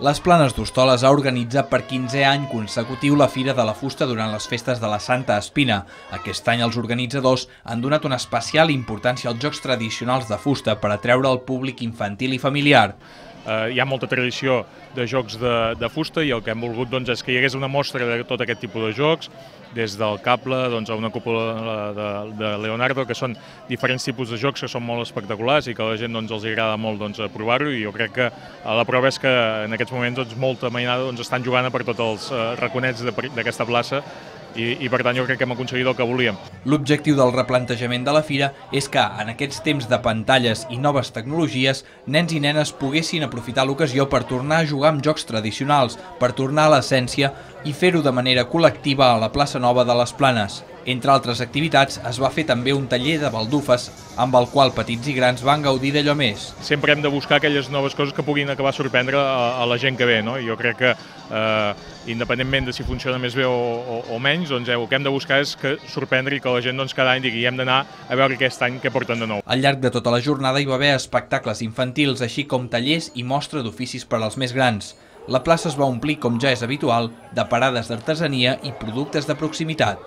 Les Planes d'Hostoles ha organitzat per 15è any consecutiu la Fira de la Fusta durant les festes de la Santa Espina. Aquest any els organitzadors han donat una especial importància als jocs tradicionals de fusta per atreure el públic infantil i familiar. Hi ha molta tradició de jocs de fusta i el que hem volgut és que hi hagués una mostra de tot aquest tipus de jocs, des del cable a una cúpula de Leonardo, que són diferents tipus de jocs que són molt espectaculars i que a la gent els agrada molt provar-ho, i jo crec que la prova és que en aquests moments molta mainada estan jugant per tots els raconets d'aquesta plaça i per tant jo crec que hem aconseguit el que volíem. L'objectiu del replantejament de la fira és que, en aquests temps de pantalles i noves tecnologies, nens i nenes poguessin aprofitar l'ocasió per tornar a jugar amb jocs tradicionals, per tornar a l'essència i fer-ho de manera col·lectiva a la plaça Nova de les Planes. Entre altres activitats, es va fer també un taller de baldufes, amb el qual petits i grans van gaudir d'allò més. Sempre hem de buscar aquelles noves coses que puguin acabar sorprendre a la gent que ve, no? Jo crec que, independentment de si funciona més bé o menys, el que hem de buscar és sorprendre i que la gent cada any digui hem d'anar a veure aquest any què porten de nou. Al llarg de tota la jornada hi va haver espectacles infantils, així com tallers i mostra d'oficis per als més grans. La plaça es va omplir, com ja és habitual, de parades d'artesania i productes de proximitat.